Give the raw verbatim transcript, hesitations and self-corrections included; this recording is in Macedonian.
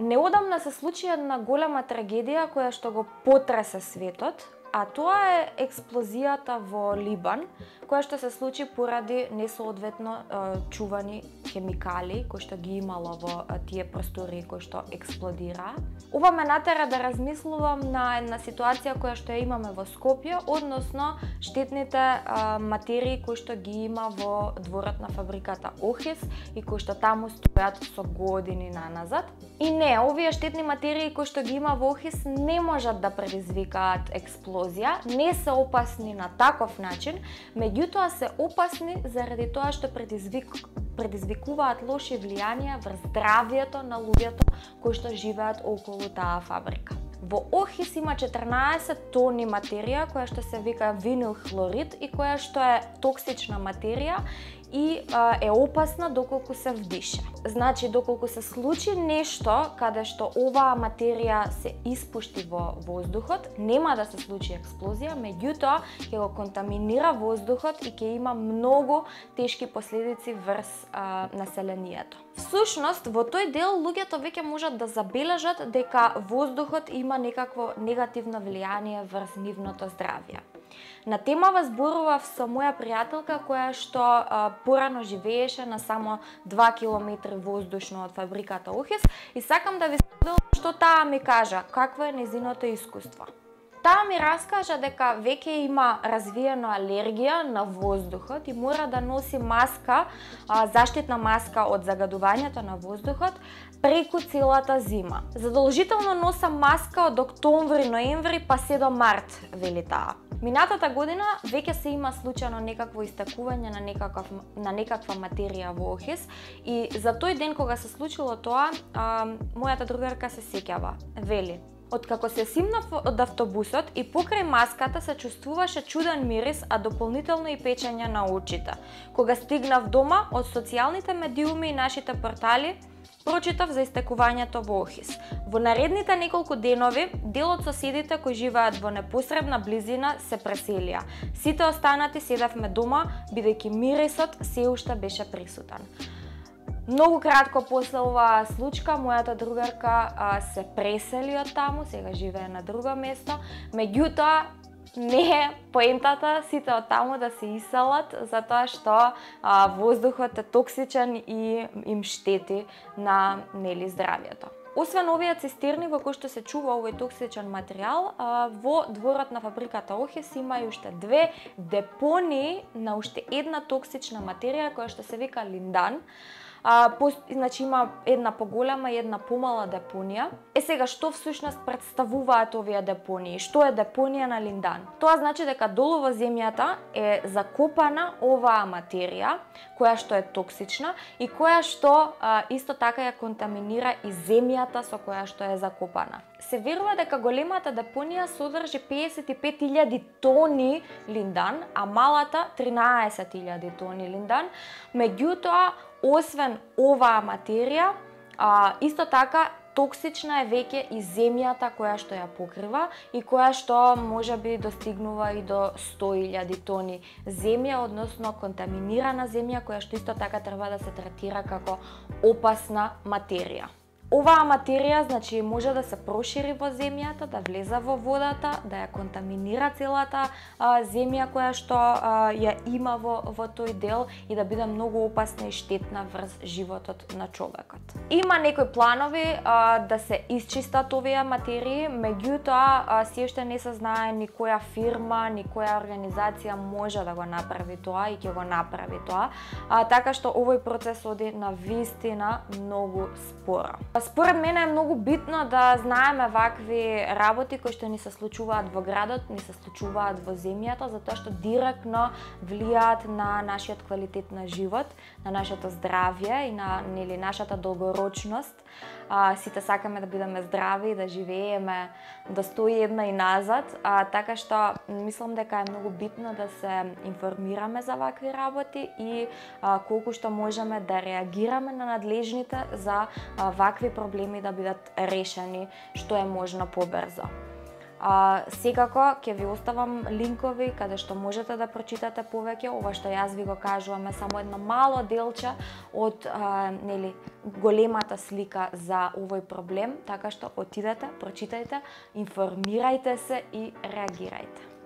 Неодамна се случи една голема трагедија која што го потресе светот, а тоа е експлозијата во Либан, која што се случи поради несоодветно чувани хемикали кои што ги имало во тие простори кои што експлодира. Ова ме натера да размислувам на една ситуација која што ја имаме во Скопје, односно штетните а, материи кои што ги има во дворот на фабриката Охис и кои што таму стојат со години наназад. И не, овие штетни материи кои што ги има во Охис не можат да предизвикаат експлозија, не се опасни на таков начин, меѓутоа се опасни заради тоа што предизвик предизвикуваат лоши влијанија врз здравјето на луѓето кои што живеат околу таа фабрика. Во Охис има четрнаесет тони материја која што се вика винил хлорид и која што е токсична материја и а, е опасна доколку се вдиша. Значи, доколку се случи нешто каде што оваа материја се испушти во воздухот, нема да се случи експлозија, меѓутоа ќе го контаминира воздухот и ќе има многу тешки последици врз а, населението. Всушност, во тој дел луѓето веќе можат да забележат дека воздухот има некакво негативно влијание врз нивното здравје. На темава зборував со моја пријателка која што а, порано живееше на само два километри воздушно од фабриката Охис и сакам да ви споделам што таа ми кажа, какво е нејзиното искуство. Таа ми раскажа дека веќе има развиена алергија на воздухот и мора да носи маска, а, заштитна маска од загадувањето на воздухот преку целата зима. Задолжително носам маска од октомври, ноември па се до март, вели таа. Минатата година веќе се има случајно некакво истакување на некаков на некаква материја во Охис и за тој ден кога се случило тоа, а, мојата другарка се сеќава. Вели: откако се симнав од автобусот и покрај маската се чувствуваше чуден мирис, а дополнително и печење на очите. Кога стигнав дома, од социјалните медиуми и нашите портали прочитав за истекувањето во Охис. Во наредните неколку денови, дел од соседите кои живеат во непосредна близина се преселија. Сите останати седавме дома, бидејќи мирисот се уште беше присутен. Многу кратко после оваа случка, мојата другарка а, се пресели од таму, сега живее на друго место, меѓутоа не е поентата сите од таму да се иселат, затоа што а, воздухот е токсичен и им штети на нели здравјето. Освен овие цистерни во кои што се чува овој токсичен материјал, а, во дворот на фабриката Охис има и уште две депонии на уште една токсична материја која што се вика линдан. А, по, значи има една поголема и една помала депонија. Е сега, што всушност представуваат овие депонии? Што е депонија на линдан? Тоа значи дека долу во земјата е закопана оваа материја, која што е токсична и која што а, исто така ја контаминира и земјата со која што е закопана. Се верува дека големата депонија содржи педесет и пет илјади тони линдан, а малата тринаесет илјади тони линдан. Меѓутоа, освен оваа материја, а, исто така токсична е веќе и земјата која што ја покрива и која што можеби достигнува и до сто илјади тони земја, односно контаминирана земја која што исто така треба да се третира како опасна материја. Оваа материја, значи, може да се прошири во земјата, да влезе во водата, да ја контаминира целата а, земја која што а, ја има во, во тој дел и да биде многу опасна и штетна врз животот на човекот. Има некои планови а, да се исчистат овие материи, меѓутоа се уште не се знае ни која фирма, ни која организација може да го направи тоа и ќе го направи тоа, а, така што овој процес оди на вистина многу споро. Според мене е многу битно да знаеме вакви работи кои што ни се случуваат во градот, ни се случуваат во земјата, затоа што директно влијаат на нашиот квалитет на живот, на нашето здравје и на нели нашата долгорочност. А, сите сакаме да бидеме здрави и да живееме до сто и една и назад, а, така што мислам дека е многу битно да се информираме за вакви работи и а, колку што можеме да реагираме на надлежните за а, вакви проблеми да бидат решени што е можно побрзо. А, секако ќе ви оставам линкови каде што можете да прочитате повеќе. Ова што јас ви го кажувам е само едно мало делче од а, нели големата слика за овој проблем, така што отидете, прочитајте, информирајте се и реагирајте.